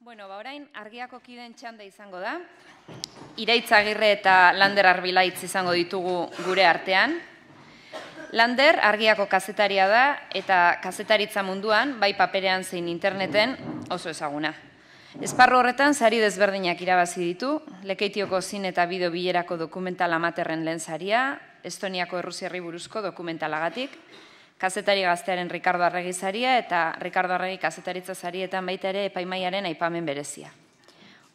Orain Argiako kideen txanda izango da. Iraitz Agirre eta Lander Arbilaitz izango ditugu gure artean. Lander Argiako kazetaria da eta kazetaritza munduan, bai paperean zein interneten, oso ezaguna. Esparru horretan sari desberdinak irabazi ditu, Lekeitioko zin eta bideo bilerako dokumental amaterren lehen saria, Estoniako Errusiarri buruzko dokumentalagatik, kazetari gaztearen Ricardo Arregi saria eta Ricardo Arregi kazetaritza sarietan baita ere epaimaiaren aipamen berezia.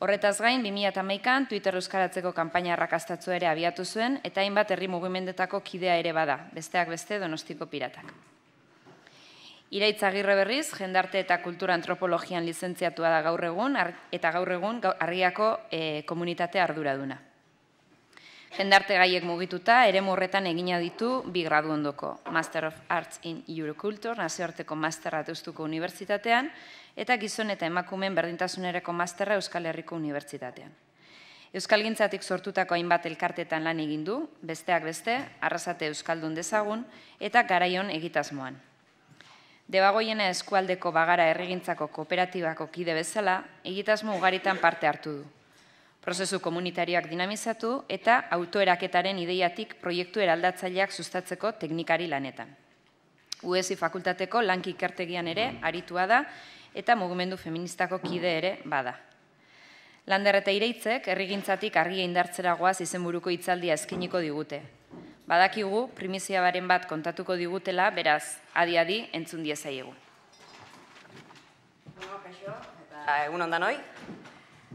Horretaz gain, 2011an Twitter euskaratzeko kanpaina arrakastatzu ere abiatu zuen eta hainbat herri mugimendetako kidea ere bada, besteak beste Donostiko piratak. Iraitz Agirre berriz, jendarte eta kultura antropologian lizentziatua da gaur egun eta gaur egun Argiako komunitate arduraduna. Jendarte gaiek mugituta, eremu horretan egina ditu bi gradu ondoko, Master of Arts in Euroculture, nazioarteko masterra Deustuko Unibertsitatean, eta gizon eta emakumeen berdintasunerako masterra Euskal Herriko Unibertsitatean. Euskalgintzatik sortutako hainbat elkartetan lan egin du, besteak beste, Arrasate Euskaldun dezagun, eta Garaion egitasmoan. Debagoiena eskualdeko bagara herrigintzako kooperatibako kide bezala, egitasmo ugaritan parte hartu du. Prozesu komunitarioak dinamizatu eta autoeraketaren ideiatik proiektu eraldatzaileak sustatzeko teknikari lanetan. UESI fakultateko lanki ikertegian ere aritua da eta mugimendu feministako kide ere bada. Lander eta Iraitzek herrigintzatik argia indartzera goaz izenburuko hitzaldia eskainiko digute. Badakigu primizia baren bat kontatuko digutela, beraz, adi-adi entzun diezaiegu. Egun ondan hoi.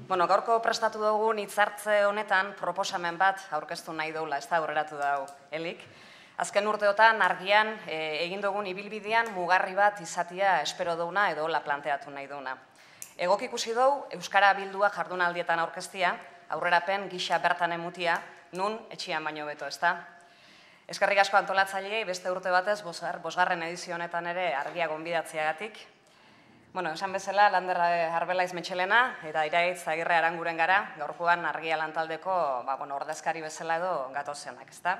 Gaurko prestatu dugun hitzartze honetan proposamen bat aurkeztu nahi doula, ez da aurreratu dau helik. Azken urteotan argian egin dugun ibilbidean mugarri bat izatia espero duguna edo hola planteatu nahi duguna. Egok ikusi dugu Euskara Bildua jardunaldietan aurkeztia, aurrerapen gisa bertan emutia, nun etxian baino beto, ez da? Eskerrik asko antolatzaileei beste urte batez, bosgarren edizio honetan ere argia gonbidatziagatik. Esan bezala, Lander Arbelaiz Metxelena eta Iraitz Agirre Aranguren gara, gaurkoan argia lantaldeko ordezkari bezala edo gatozenak, ezta?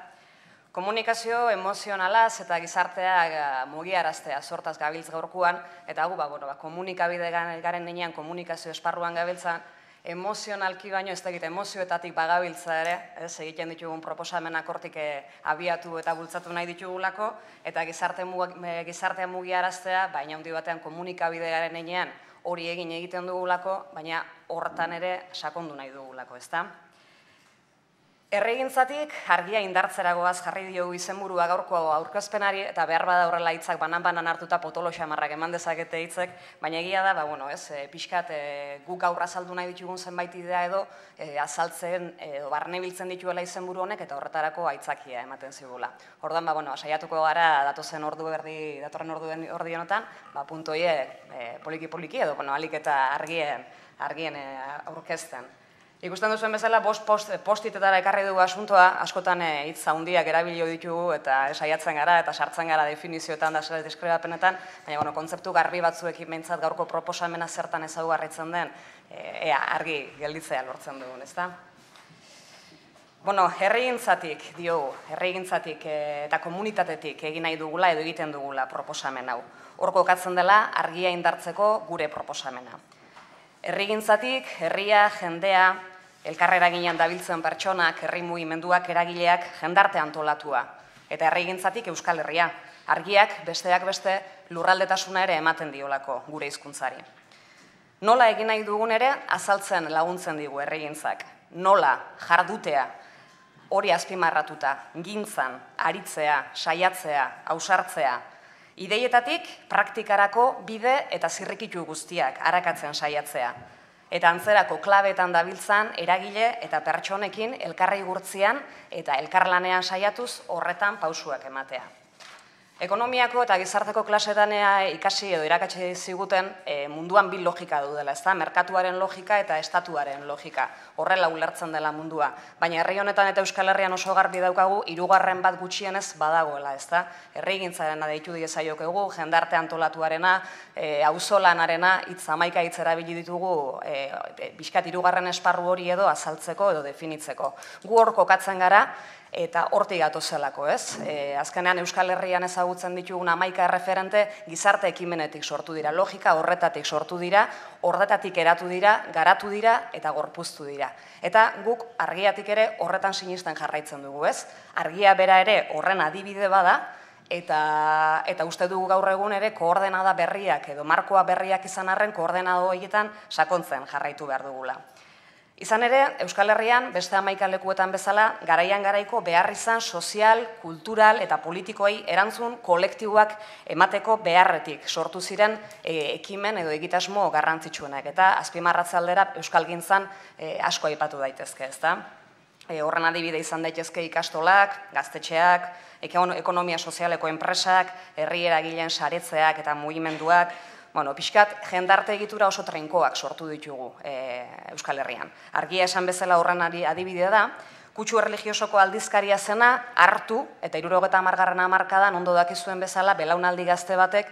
Komunikazio emozionalaz eta gizartea mugiaraztea sortaz gabiltz gaurkoan, eta komunikabide garen nenean komunikazio esparruan gabiltzan, emozionalki baino ez dakit emozioetatik bagabiltza ere, egiten ditugun proposamenak hortik abiatu eta bultzatu nahi ditugulako, eta gizartea mugiaraztea, baina handi batean komunikabide garen nenean hori egiten dugulako, baina horretan ere sakondu nahi dugulako, ezta? Herrigintzatik argia indartzeragoaz jarri diogu izenburua gaurko aurkezpenari eta behar bada horrela hitzak banan-banan hartuta potolo xamarrak eman dezakete hitzek, baina egia da, pixkat guk gaur azaldu nahi ditugun zenbait idea edo azaltzen edo barnebiltzen dituela izenburu honek eta horretarako aitzakia ematen zigula. Orduan, saiatuko gara datorren ordu honetan, puntu horiek poliki-poliki edo alik eta argien aurkezten. Ikusten duzuen bezala, postitetara ekarri dugu asuntoa, askotan hitz handiak erabilio ditugu eta saiatzen gara eta sartzen gara definizioetan da deskribapenetan, baina kontzeptu garbi batzuekin behintzat gaurko proposamena zertan ezaugarritzen den, argi gelditzea lortzen dugun, ezta? Herrigintzatik diogu, herrigintzatik eta komunitatetik egin nahi dugula edo egiten dugula proposamen hau. Hor kokatzen dela argia indartzeko gure proposamena. Herrigintzatik, herria, jendea, elkarrera ginean dabiltzen pertsonak, herri mugimenduak, eragileak, jendarte antolatua. Eta herrigintzatik Euskal Herria, argiak besteak beste lurraldetasuna ere ematen diolako gure hizkuntzari. Nola egin nahi dugun ere azaltzen laguntzen digu herrigintzak. Nola, jardutea, hori azpimarratuta, gintzan, aritzea, saiatzea, ausartzea, ideietatik praktikarako bide eta zirrikitu guztiak arakatzen saiatzea. Eta antzerako klabeetan dabiltzan eragile eta pertsonekin elkarri gurtzian eta elkarlanean saiatuz horretan pausuak ematea. Ekonomiako eta gizarteko klasetan ikasi edo irakatsi ziguten munduan bi logika daudela, ezta? Merkatuaren logika eta estatuaren logika. Horrela ulertzen dela mundua. Baina herri honetan eta Euskal Herrian oso garbi daukagu, hirugarren bat gutxienez badagoela, ezta? Herrigintzarena deitu diezaiokegu, jendarte antolatuarena, auzolanarena, hitz 11 hitz erabili ditugu pixkat hirugarren esparru hori edo azaltzeko edo definitzeko. Gu hor kokatzen gara, eta hortik gatozelako, ez? Azkenean Euskal Herrian ezagutzen ditugun 11 erreferente gizarte ekimenetik sortu dira, logika horretatik sortu dira, horretatik eratu dira, garatu dira eta gorpuztu dira. Eta guk argiatik ere horretan sinisten jarraitzen dugu, ez? Argia bera ere horren adibide bada, eta uste dugu gaur egun ere koordenada berriak edo markoa berriak izan arren koordenada horietan sakontzen jarraitu behar dugula. Izan ere, Euskal Herrian, beste 11 lekuetan bezala, garaian garaiko behar izan sozial, kultural eta politikoei erantzun kolektiboak emateko beharretik sortu ziren ekimen edo egitasmo garrantzitsuenak. Eta azpimarratze aldera Euskalgintzan asko aipatu daitezke, ezta? Horren adibide izan daitezke ikastolak, gaztetxeak, ekonomia sozialeko enpresak, herri eragileen saretzeak eta mugimenduak, pixkat jendarte egitura oso trinkoak sortu ditugu Euskal Herrian. Argia esan bezala horren adibidea da, kutsu erligiosoko aldizkaria zena hartu, eta 70. hamarkadan ondo dakizuen bezala, belaunaldi gazte batek,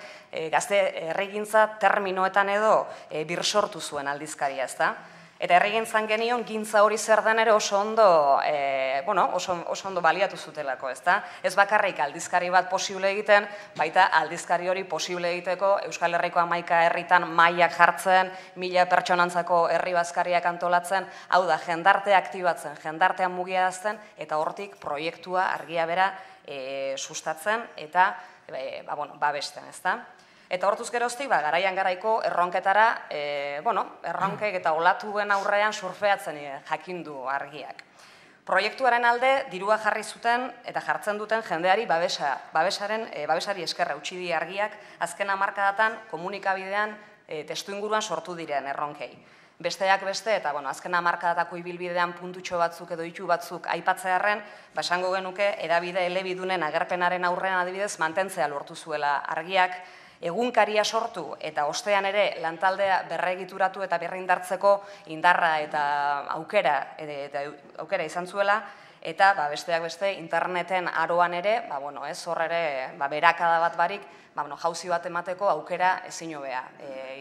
gazte herrigintza terminoetan edo birsortu zuen aldizkaria, ezta? Eta herrigintzan genion, gintza hori zer den ere oso ondo baliatu zutelako, ezta? Ez bakarrik aldizkari bat posible egiten, baita aldizkari hori posible egiteko Euskal Herriko 11 herritan mailak jartzen, 1000 pertsonantzako herri bazkariak antolatzen, hau da, jendartea aktibatzen, jendartean mugiarazten, eta hortik proiektua argia bera sustatzen eta babesten, ezta? Eta hortuz geroztik, garaian garaiko erronketara, erronkek eta olatuen aurrean surfeatzen jakindu argiak. Proiektuaren alde, dirua jarri zuten eta jartzen duten jendeari babesari eskerra utzi die argiak, azken hamarkadatan komunikabidean testuinguruan sortu diren erronkei. Besteak beste, eta azken hamarkadatako ibilbidean puntutxo batzuk edo ditu batzuk aipatzearren, esango genuke, hedabide elebidunen agerpenaren aurrean adibidez mantentzea lortu zuela argiak, egunkaria sortu eta ostean ere lantaldea berregituratu eta berrindartzeko indarra eta aukera izan zuela, eta besteak beste interneten aroan ere, hor ere berakada bat barik, jauzi bat emateko aukera ezin hobea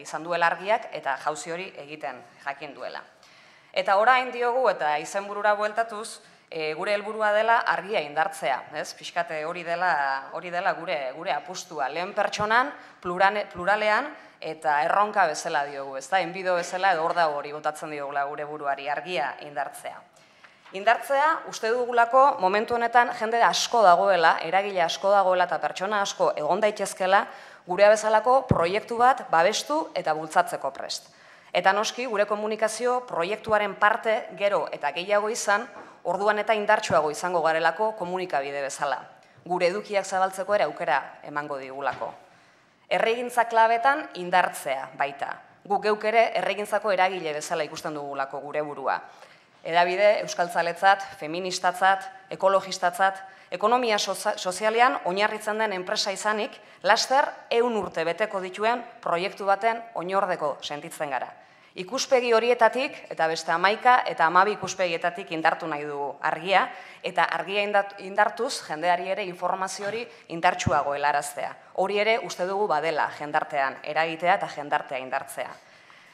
izan duela argiak eta jauzi hori egiten jakin duela. Eta orain diogu eta izenburura bueltatuz, gure helburua dela argia indartzea, pixkate hori dela gure apustua, lehen pertsonan, pluralean eta erronka bezala diogu, enbido bezala edo hor da hori botatzen diogula gure buruari, argia indartzea. Indartzea, uste dugulako momentu honetan jende asko dagoela, eragile asko dagoela eta pertsona asko egon daitezkela gure bezalako proiektu bat babestu eta bultzatzeko prest. Eta noski, gure komunikazio proiektuaren parte gero eta gehiago izan, orduan eta indartsuago izango garelako komunikabide bezala. Gure edukiak zabaltzeko ere aukera emango digulako. Herrigintza klabetan indartzea baita. Guk geuk ere herrigintzako eragile bezala ikusten dugulako gure burua. Hedabide euskaltzaletzat, feministatzat, ekologistatzat, ekonomia sozialean oinarritzen den enpresa izanik, laster 100 urte beteko dituen proiektu baten oinordeko sentitzen gara. Ikuspegi horietatik, eta beste 11 eta 12 ikuspegietatik indartu nahi dugu argia, eta argia indartuz jendeari ere informazio hori indartsuago helaraztea. Hori ere uste dugu badela jendartean eragitea eta jendartea indartzea.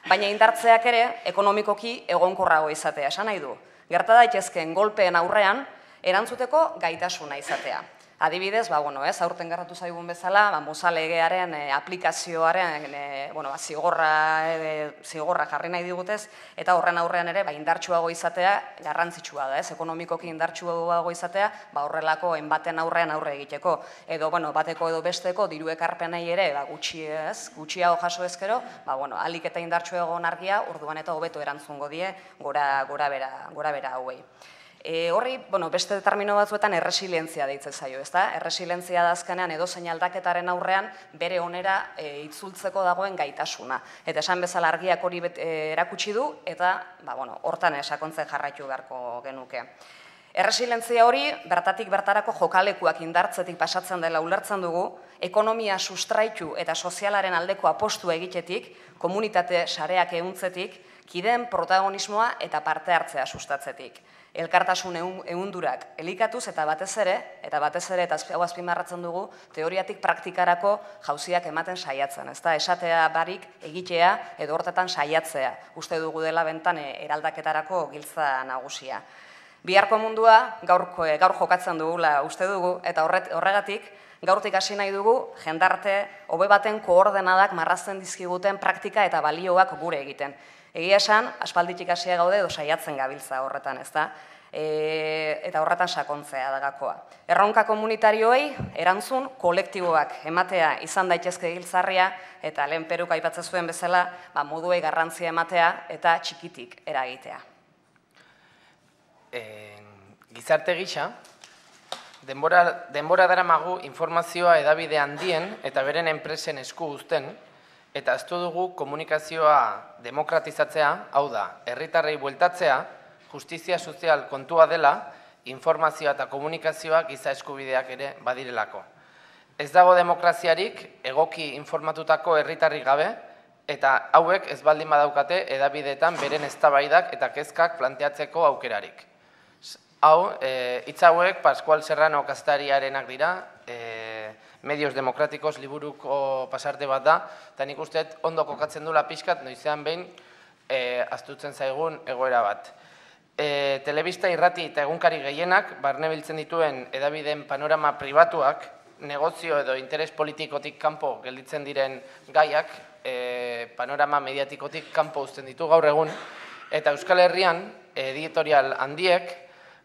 Baina indartzeak ere ekonomikoki egonkorrago izatea, esan nahi du. Gerta daitezkeen golpeen aurrean erantzuteko gaitasuna izatea. Adibidez, aurten gertatu zaigun bezala, Mosa legearen aplikazioaren zigorra jarri nahi digutez, eta horren aurrean ere indartsuago izatea garrantzitsua da, ekonomikoki indartsuago izatea, horrelako enbaten aurrean aurre egiteko. Edo bateko edo besteko diru ekarpenei ere gutxiago jaso ezkero, ahalik eta indartsuago argia, orduan eta hobeto erantzungo die gora bera hauei. Horri, beste termino batzuetan erresilientzia deitzen zaio, ezta? Erresilientzia da azkenean edozein aldaketaren aurrean bere onera itzultzeko dagoen gaitasuna. Eta esan bezala argiak hori erakutsi du eta hortan sakontzen jarraitu beharko genuke. Erresilientzia hori bertatik bertarako jokalekuak indartzetik pasatzen dela ulertzen dugu, ekonomia sustraitu eta sozialaren aldeko apostua egitetik, komunitate sareak ehuntzetik, kideen protagonismoa eta parte hartzea sustatzetik. Elkartasun ehundurak elikatuz eta batez ere, eta hau azpimarratzen dugu, teoriatik praktikarako jauziak ematen saiatzen, ezta? Esatea barik egitea edo hortetan saiatzea, uste dugu dela bentan eraldaketarako giltza nagusia. Biharko mundua gaur jokatzen dugula uste dugu, eta horregatik gaurtik hasi nahi dugu jendarte hobe baten koordenadak marrazten dizkiguten praktika eta balioak gure egiten. Egia esan, aspalditik hasia gaude edo saiatzen gabiltza horretan, ezta? Eta horretan sakontzea da gakoa. Erronka komunitarioei erantzun kolektiboak ematea izan daitezke giltzarria, eta lehen Peruk aipatzen zuen bezala, moduei garrantzia ematea eta txikitik eragitea. Gizarte gisa, denbora daramagu informazioa hedabide handien eta beren enpresen esku uzten, eta aztu dugu komunikazioa demokratizatzea, hau da, herritarrei bueltatzea, justizia sozial kontua dela, informazioa eta komunikazioa giza eskubideak ere badirelako. Ez dago demokraziarik egoki informatutako herritarrik gabe, eta hauek ez baldin badaukate hedabideetan beren eztabaidak eta kezkak planteatzeko aukerarik. Hau, hitz hauek Pascual Serrano kazetariarenak dira, Medios Demokratikos liburuko pasarte bat da, eta nik usteet ondo kokatzen dula pixkat, noizean behin astutzen zaigun egoera bat. Telebista irrati eta egunkari gehienak, barne biltzen dituen hedabideen panorama pribatuak, negozio edo interes politikotik kanpo gelditzen diren gaiak, panorama mediatikotik kanpo uzten ditu gaur egun, eta Euskal Herrian editorial handiek,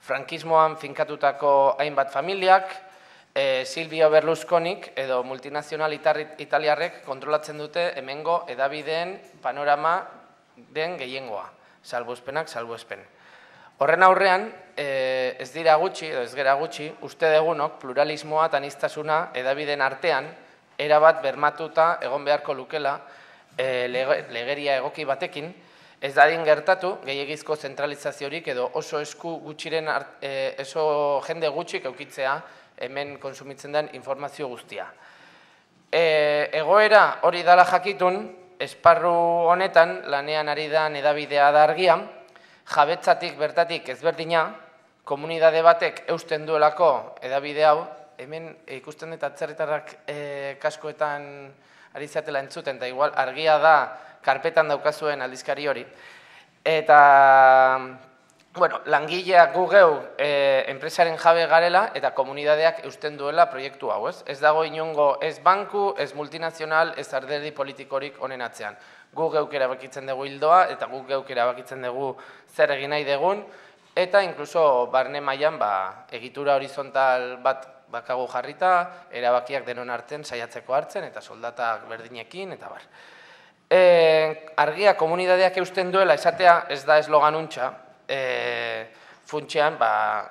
frankismoan finkatutako hainbat familiak, Silvio Berlusconik edo multinazional italiarrek kontrolatzen dute hemengo hedabideen panorama den gehiengoa, salbuespenak salbuespen. Horren aurrean, ez dira gutxi, edo ez gera gutxi, uste degunok pluralismoa eta aniztasuna hedabideen artean erabat bermatuta egon beharko lukela legeria egoki batekin, ez dadin gertatu gehiegizko zentralizaziorik edo oso esku gutxiren, oso jende gutxik eukitzea hemen konsumitzen den informazio guztia. Egoera hori dala jakitun, esparru honetan lanean ari da hedabidea da Argia, jabetzatik bertatik ezberdina, komunidade batek eusten duelako hedabide hau, hemen ikusten dut atzerritarrak kaskoetan ari zatela entzuten, eta igual Argia da karpetan daukazuen aldizkari hori. Eta, bueno, langileak gu geu enpresaren jabe garela eta komunidadeak eusten duela proiektu hau, ez? Ez dago inongo ez banku, ez multinazional, ez alderdi politikorik honen atzean. Gu geuk erabakitzen dugu hildoa eta gu geuk erabakitzen dugu zer egin nahi dugun, eta inkluso barne mailan egitura horizontal bat bakagu jarrita, erabakiak denon arten saiatzeko hartzen eta soldatak berdinekin eta bar. Argia komunidadeak eusten duela esatea ez da eslogan untxa, funtsean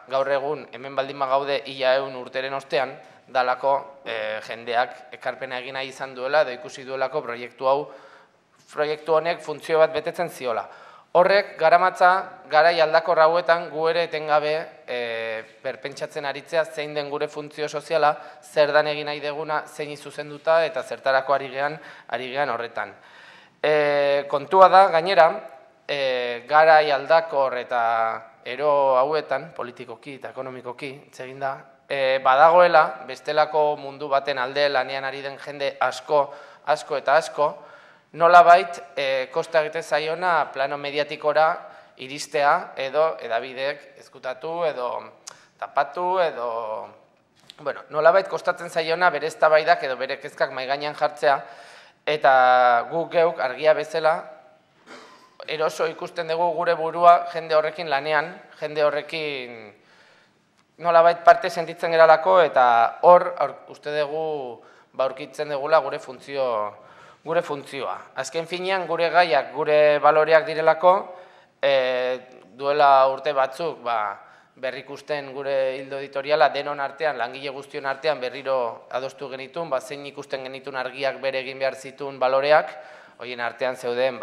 gaur egun hemen baldin gaude 100 urteren ostean, dalako jendeak ekarpena egin nahi izan duela edo ikusi duelako proiektu honek funtzio bat betetzen ziola. Horrek garamatza garai aldakor hauetan gu ere etengabe berpentsatzen aritzea zein den gure funtzio soziala, zer dan egin nahi deguna, zein zuzenduta eta zertarako ari gean horretan. Kontua da, gainera, garai aldakor eta ero hauetan, politikoki eta ekonomikoki, itzegin da, badagoela, bestelako mundu baten alde lanean ari den jende asko eta asko, nolabait kosta egite zaiona plano mediatikora iristea edo hedabideek ezkutatu edo tapatu edo... Bueno, nolabait kostatzen zaiona bere eztabaidak edo bere kezkak mahai gainean jartzea eta guk geuk Argia bezala eroso ikusten dugu gure burua jende horrekin lanean, jende horrekin nolabait parte sentitzen geralako eta hor uste dugu aurkitzen dugula gure funtzioa. Azken finean gure gaiak, gure baloreak direlako, duela urte batzuk berrikusten gure hildo editoriala denon artean, langile guztion artean berriro adostu genitun, zein ikusten genitun Argiak bere egin behar zituen baloreak, horien artean zeuden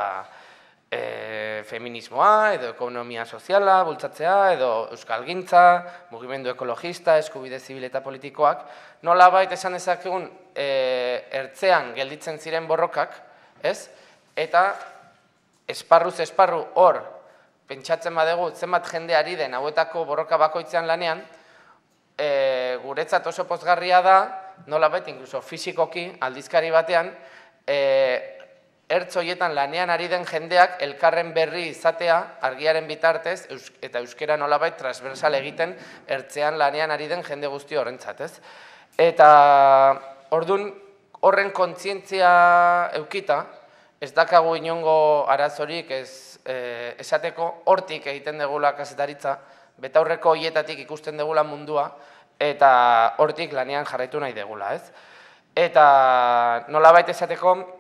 feminismoa, edo ekonomia soziala, bultzatzea, edo euskalgintza, mugimendu ekologista, eskubide zibil eta politikoak, nolabait esan dezakegun ertzean gelditzen ziren borrokak, ez? Eta esparruz esparru hor, pentsatzen badegu, zenbat jende ari den hauetako borroka bakoitzean lanean, guretzat oso pozgarria da, nolabait, inkluso fisikoki, aldizkari batean, ertz horietan lanean ari den jendeak elkarren berri izatea argiaren bitartez eta euskera nolabait transversal egiten ertzean lanean ari den jende guzti horrentzat, ez? Eta ordun horren kontzientzia eukita, ez dakagu inongo arazorik esateko hortik egiten degula kazetaritza, betaurreko hoietatik ikusten degula mundua, eta hortik lanean jarraitu nahi degula, ez? Eta nolabait esateko,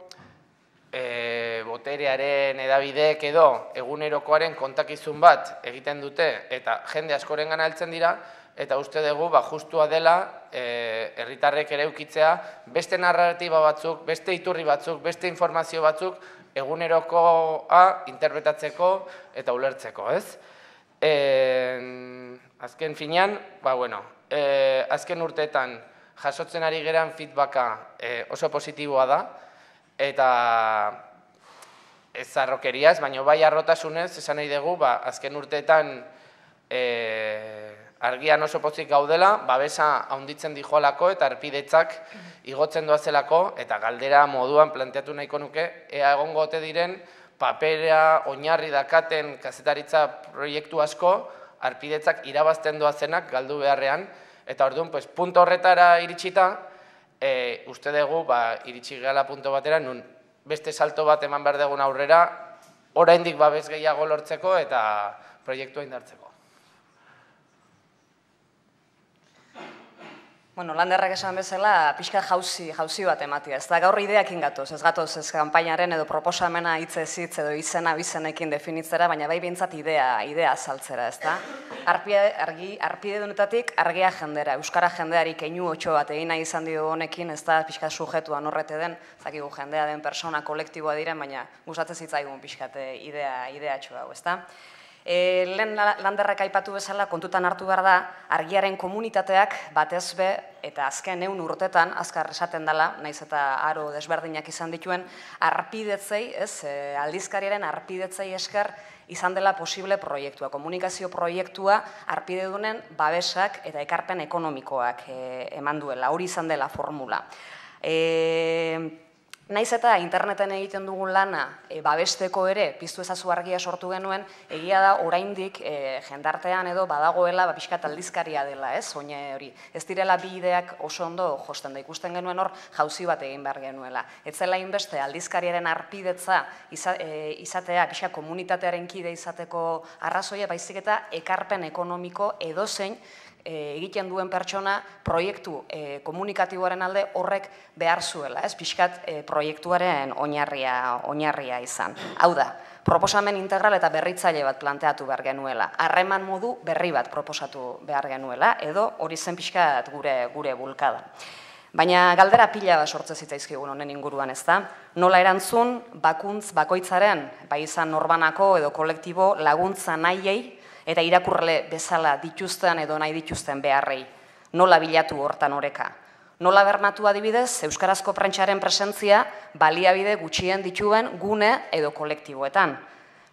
boterearen edabideek edo egunerokoaren kontakizun bat egiten dute eta jende askoren gana heltzen dira, eta uste dugu justua dela herritarrek ere eukitzea beste narratiba batzuk, beste iturri batzuk, beste informazio batzuk egunerokoa interpretatzeko eta ulertzeko, ez? Azken finean, azken urteetan jasotzen ari geran feedbacka oso positiboa da, eta ez zarrokeriaz, baina bai arrotasunez, esan nahi dugu, azken urteetan argian oso pozik gaudela, babesa handitzen dijoalako eta arpidetzak igotzen doazelako, eta galdera moduan planteatu nahiko nuke, ea egongo ote diren papera oinarri dakaten kazetaritza proiektu asko, arpidetzak irabazten doazenak galdu beharrean, eta orduan, punto horretara iritsita, uste dugu, iritsi gehala punto batera, nun beste salto bat eman behar dugun aurrera, oraindik babes gehiago lortzeko eta proiektua indartzeko. Bueno, Landerrak esan bezala, pixka jauzi bat ematia. Ez da gaur ideakin gatoz, ez gatoz ez kanpainaren edo proposamena hitzez hitz edo izena bizenekin definitzera, baina bai bintzat idea azaltzera, ez da? Arpide dunetatik argia jendera, euskara jendeari keinu otxo bat egin nahi izan dio honekin, ez da pixka sujetuan horrete den, zakigu jendea den persona kolektiboa diren, baina gustatzen zitzaigun pixkate idea txo hau, ez da? Lehen Landerrak aipatu bezala kontutan hartu behar da, argiaren komunitateak batez be, eta azken 100 urtetan, azkar esaten dela, naiz eta aro desberdinak izan dituen, arpidetzei, aldizkariaren arpidetzei esker izan dela posible proiektua, komunikazio proiektua arpidedunen babesak eta ekarpen ekonomikoak eman duela, hori izan dela formula. Naiz eta interneten egiten dugun lana babesteko ere, piztu ezazu argia sortu genuen, egia da oraindik jendartean edo badagoela pixkat aldizkaria dela, oine hori. Ez direla bi ideak oso ondo josten da, ikusten genuen hor jauzi bat egin behar genuela. Ez zela inbeste aldizkariaren arpidetza izatea, pixka komunitatearen kide izateko arrazoia, baizik eta ekarpen ekonomiko edozein egiten duen pertsona proiektu komunikatiboaren alde horrek behar zuela, pixkat proiektuaren oinarria izan. Hau da, proposamen integral eta berritzaile bat planteatu behar genuela, harreman modu berri bat proposatu behar genuela, edo hori zen pixkat gure bulkada. Baina galdera pila bat sortze zitzaizkigun honen inguruan, ez da? Nola erantzun bakuntz bakoitzaren, bai izan norbanako edo kolektibo laguntza nahiei, eta irakurle bezala dituzten edo nahi dituzten beharrei. Nola bilatu hortan oreka. Nola bermatu adibidez, euskarazko prentsaren presentzia baliabide gutxien dituen gune edo kolektiboetan.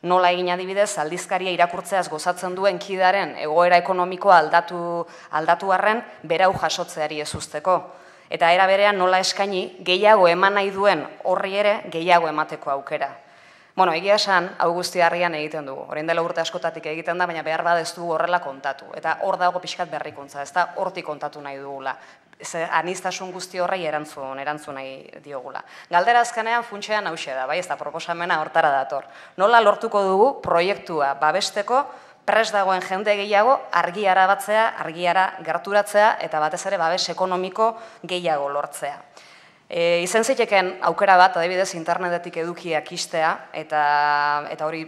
Nola egin adibidez, aldizkaria irakurtzeaz gozatzen duen kidaren egoera ekonomikoa aldatu arren berau jasotzeari ez usteko. Eta era berean nola eskaini gehiago eman nahi duen horri ere gehiago emateko aukera. Bueno, egia esan, hau guzti harrian egiten dugu. Orain dela urte askotatik egiten da, baina behar badez dugu horrela kontatu. Eta hor dago pixkat berrikuntza, ez da hortik kontatu nahi dugula. Aniztasun guzti horrei erantzun nahi diogula. Galdera azkenean funtsean hauxe da, bai, ez da proposamena hortara dator. Nola lortuko dugu proiektua babesteko, prest dagoen jende gehiago argiara batzea, argiara gerturatzea, eta batez ere babes ekonomiko gehiago lortzea. Izen ziteken aukera bat, adibidez, internetetik edukiak istea, eta hori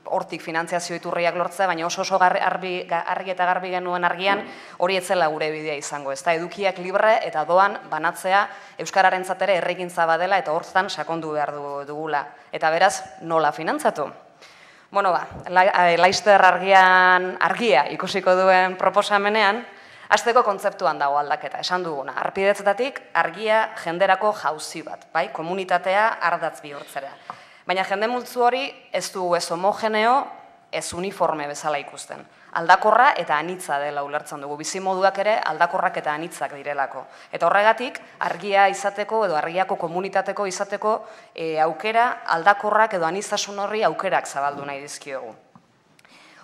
hortik finantziazio iturriak lortzea, baina oso argi eta garbi genuen argian hori etzela gure bidea izango. Ez da, edukiak libre eta doan banatzea euskararentzat ere errekintza badela eta hortan sakondu behar dugula. Eta beraz, nola finantzatu? Bueno, Laster argia ikusiko duen proposamenean, hasteko kontzeptuan dago aldaketa, esan duguna. Arpidetzetatik argia jenderako jauzi bat, bai, komunitatea ardatz bihurtzera. Baina jende multzu hori ez du ez homogeneo, ez uniforme bezala ikusten. Aldakorra eta anitza dela ulertzen dugu. Bizimoduak ere aldakorrak eta anitzak direlako. Eta horregatik, argia izateko edo argiako komunitateko izateko aukera aldakorrak edo anitzasun horri aukerak zabaldu nahi dizkiogu.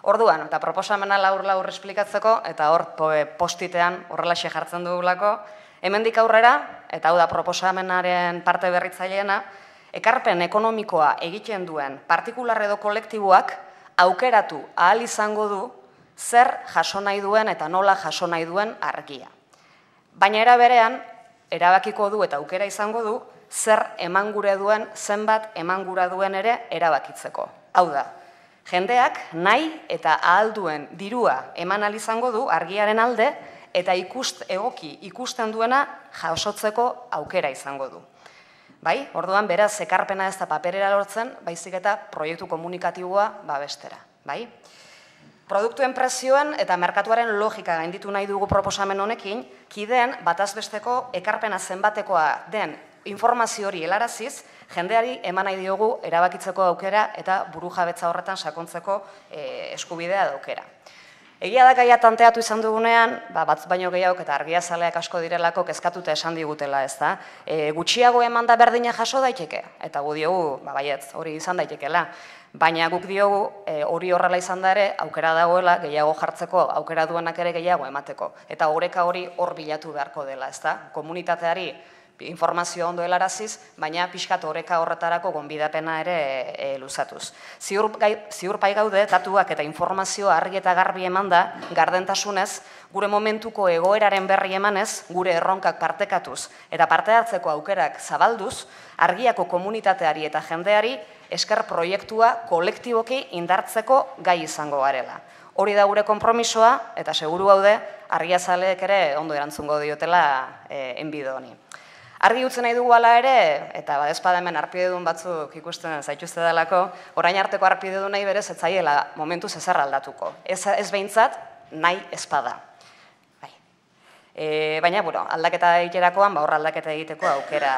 Orduan, eta proposamena laur esplikatzeko, eta hor postitean horrelaxe jartzen dugulako, hemendik aurrera, eta hau da proposamenaren parte berritzaileena, ekarpen ekonomikoa egiten duen partikular edo kolektiboak aukeratu ahal izango du zer jaso nahi duen eta nola jaso nahi duen argia. Baina era berean, erabakiko du eta aukera izango du zer eman gure duen, zenbat eman gura duen ere erabakitzeko. Hau da, jendeak nahi eta ahal duen dirua eman ahal izango du argiaren alde eta egoki ikusten duena jasotzeko aukera izango du. Bai, orduan beraz ekarpena ez da paperera lortzen, baizik eta proiektu komunikatiboa babestera. Bai? Produktuen prezioen eta merkatuaren logika gainditu nahi dugu proposamen honekin, kideen batazbesteko ekarpena zenbatekoa den informazio hori helaraziz, jendeari eman nahi diogu erabakitzeko aukera eta burujabetza horretan sakontzeko eskubidea aukera. Egia da gaia tanteatu izan dugunean, batz baino gehiago eta argiazaleak asko direlako kezkatuta esan digutela, ez da. Gutxiago eman da berdina jaso daiteke, eta gu diogu, baietz, hori izan daitekela. Baina guk diogu, hori horrela izan da ere, aukera dagoela, gehiago jartzeko, aukera duenak ere gehiago emateko. Eta oreka hori hor bilatu beharko dela, ez da. Komunitateari informazio ondo helaraziz, baina pixkat oreka horretarako gonbidapena ere luzatuz. Ziur pai gaude, datuak eta informazioa argi eta garbi eman da, gardentasunez, gure momentuko egoeraren berri emanez, gure erronkak partekatuz eta parte hartzeko aukerak zabalduz, argiako komunitateari eta jendeari esker proiektua kolektiboki indartzeko gai izango garela. Hori da gure konpromisoa, eta seguru gaude, argiazaleek ere ondo erantzungo diotela enbido honi. Argi utzen nahi dugu ala ere, eta badezpada hemen arpidedun batzuk ikusten zaituzte dalako, orain arteko arpidedun nahi berez ez zaiela momentuz ezer aldatuko. Ez behintzat, nahi ezpada. Baina, aldaketa egiterakoan, hor aldaketa egiteko aukera.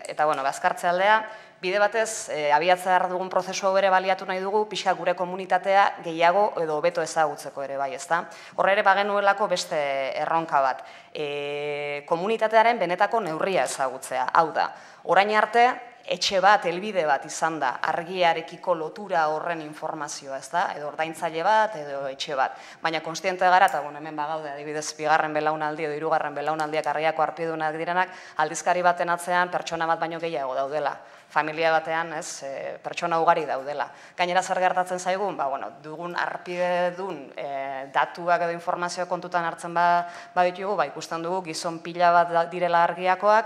Eta, bazkartze aldea, bide batez, abiatzea dugun prozesu hau ere baliatu nahi dugu, pixka gure komunitatea gehiago edo hobeto ezagutzeko ere bai, ezta? Horre ere bagenuelako beste erronka bat. Komunitatearen benetako neurria ezagutzea. Hau da, orain arte, etxe bat, helbide bat izan da, argiarekiko lotura horren informazioa, ez da? Edo ordaintzaile bat, edo etxe bat. Baina konstiente gara, eta hemen bagaude, adibidez, bigarren belaunaldi edo hirugarren belaunaldiak argiako arpidunak direnak, aldizkari baten atzean pertsona bat baino gehiago daudela. Familia batean, pertsona ugari daudela. Gainera zer gertatzen zaigun, dugun arpidedun datuak edo informazioa kontutan hartzen baditugu, ikusten dugu gizon pila bat direla argiakoak,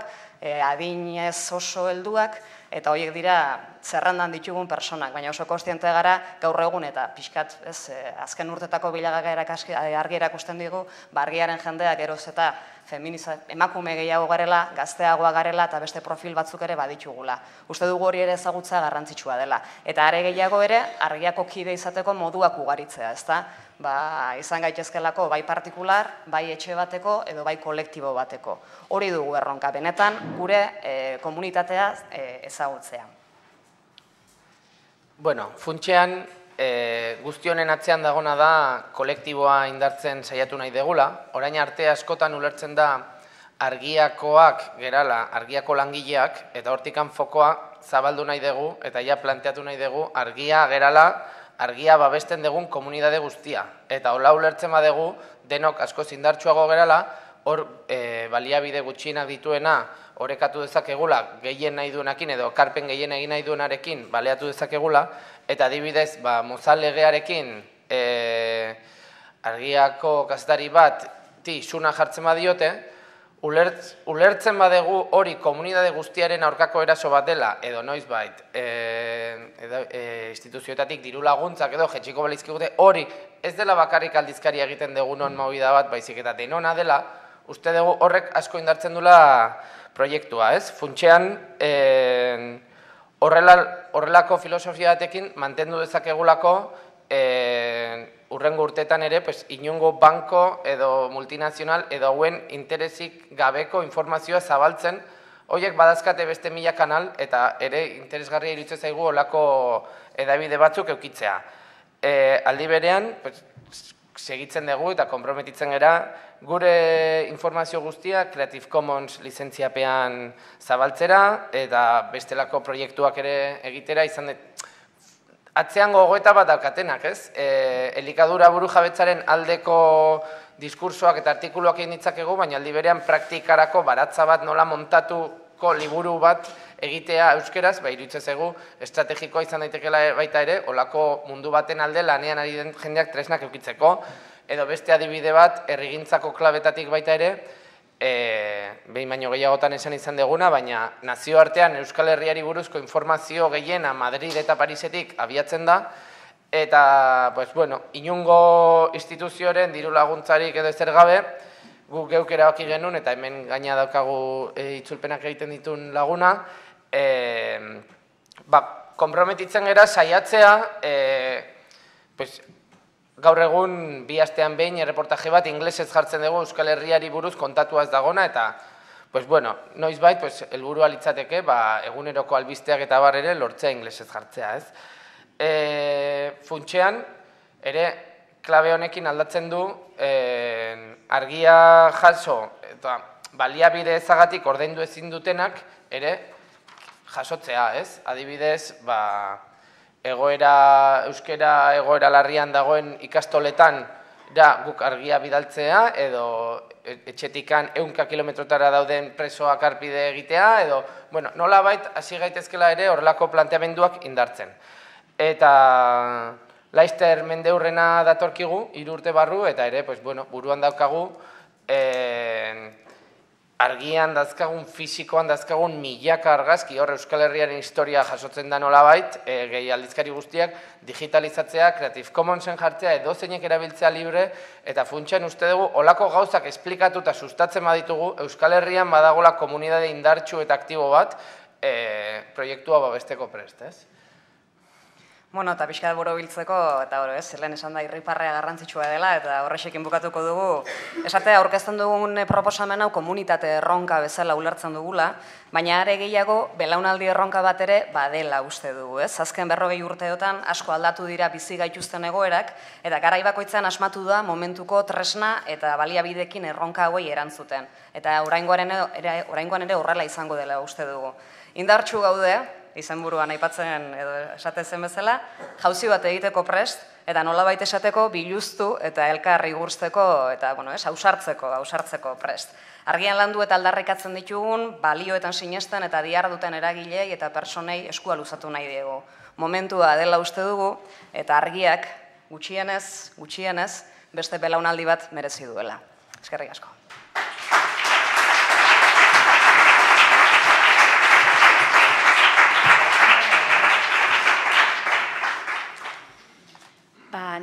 adinez oso helduak, eta horiek dira zerrendan ditugun personak, baina oso konstiente gara gaur egun eta pixkat azken urtetako bilagagerak argi erakusten digu, argiaren jendeak geroz eta emakume gehiago garela, gazteagoa garela eta beste profil batzuk ere baditugula. Uste dugu hori ere ezagutza garrantzitsua dela. Eta are gehiago ere, argiako kide izateko moduak ugaritzea, ezta? Izan gaitezkelako bai partikular, bai etxe bateko edo bai kolektibo bateko. Hori dugu erronka, benetan gure komunitatea ezagutzea. Funtsean, guzti honen atzean dagona da kolektiboa indartzen saiatu nahi degula. Orain arte askotan ulertzen da argiakoak gerala, argiako langileak, eta hortikan fokoa zabaldu nahi dugu, eta ja planteatu nahi dugu argia gerala, argia babesten dugun komunitate guztia. Eta hola ulertzen badegu, denok asko indartsuago gerala, hor baliabide gutxienak dituena orekatu dezakegula gehien nahi duenakin edo karpen gehien egin nahi duenarekin baleatu dezakegula, eta adibidez, Mozal legearekin argiako kazetari bat suna jartzen badiote, ulertzen badegu hori komunitate guztiaren aurkako eraso bat dela, edo noizbait, instituzioetatik diru laguntzak edo jetxiko balizkigute, hori ez dela bakarrik aldizkaria egiten dugunon movida bat, baizik eta denona dela, uste dugu horrek asko indartzen dula proiektua, ez? Funtsean, horrelako filosofia batekin mantendu dezakegulako urrengo urteetan ere inongo banko edo multinazional edo hauen interesik gabeko informazioa zabaltzen, horiek badazkate beste 1000 kanal eta ere interesgarria iruditzen zaigu olako edabide batzuk eukitzea. aldi berean, segitzen dugu eta konprometitzen gera, gure informazio guztia Creative Commons lizentziapean zabaltzera eta bestelako proiektuak ere egitera izan atzean gogoeta bat daukatenak, ez? Elikadura burujabetzaren aldeko diskursoak eta artikuluak egin ditzakegu, baina aldi berean praktikarako baratza bat nola montatuko liburu bat egitea euskeraz, iruditzen zaigu estrategikoa izan daitekela baita ere, olako mundu baten alde lanean ari den jendeak tresnak eukitzeko, edo beste adibide bat, herrigintzako klabetatik baita ere, behin baino gehiagotan esan izan deguna, baina nazioartean Euskal Herriari buruzko informazio gehiena Madrid eta Parisetik abiatzen da, eta, inungo instituzioaren diru laguntzarik edo ezer gabe, guk geuk erabaki genuen, eta hemen gaina daukagu itzulpenak egiten dituen laguna, konprometitzen gera saiatzea, gaur egun bi astean behin erreportaje bat inglesez jartzen dugu Euskal Herriari buruz kontatuaz dagona, eta, noizbait, helburua litzateke, eguneroko albisteak eta bar ere lortzea inglesez jartzea, ez? Funtsean, ere, klabe honekin aldatzen du, argia jaso, eta baliabide ezagatik ordaindu ezin dutenak, ere, jasotzea, ez? Adibidez, euskera egoera larrian dagoen ikastoletan guk argia bidaltzea, edo etxetikan 100 kilometrotara dauden presoak arpide egitea, edo, nolabait hasi gaitezkela ere horrelako planteamenduak indartzen. Eta Laster mendeurrena datorkigu, 3 urte barru, eta ere, buruan daukagu, argian dazkagun, fisikoan dazkagun milaka argazki, hor Euskal Herriaren historia jasotzen da nolabait, gehi aldizkari guztiak, digitalizatzea, Creative Commonsen jartzea, edo zeinek erabiltzea libre, eta funtsean uste dugu, olako gauzak esplikatu eta sustatzen baditugu, Euskal Herrian badagola komunidade indartsu eta aktibo bat, proiektua babesteko prest, ez? Eta pixka buru biltzeko, eta lehen esan da irriparrea garrantzitsua dela, eta horrexekin bukatuko dugu. Esatea, aurkezten dugun proposamen hau komunitate erronka bezala ulertzen dugula, baina are gehiago, belaunaldi erronka bat ere badela uste dugu, ez? Azken 40 urteotan asko aldatu dira bizi gaituzten egoerak, eta garai bakoitzan asmatu da momentuko tresna eta baliabidekin erronka hauei erantzuten. Eta oraingoan ere horrela izango dela uste dugu. Indartsu gaude, izenburuan aipatzen edo esatezen bezala, jauzi bat egiteko prest, eta nolabait esateko biluztu eta elkar igurtzeko eta ausartzeko prest. Argian landu eta aldarrikatzen ditugun, balioetan sinesten eta diharduten eragilei eta personei eskua luzatu nahi diegu. Momentua dela uste dugu, eta argiak gutxienez, beste belaunaldi bat merezi duela. Eskerrik asko.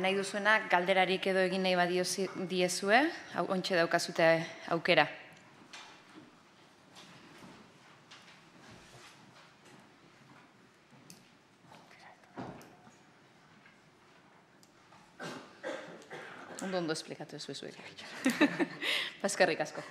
Nahi duzuenak galderarik edo egin nahi badiezue, ontxe daukazute aukera. Ondo esplikatu ez zuek. Eskerrik asko.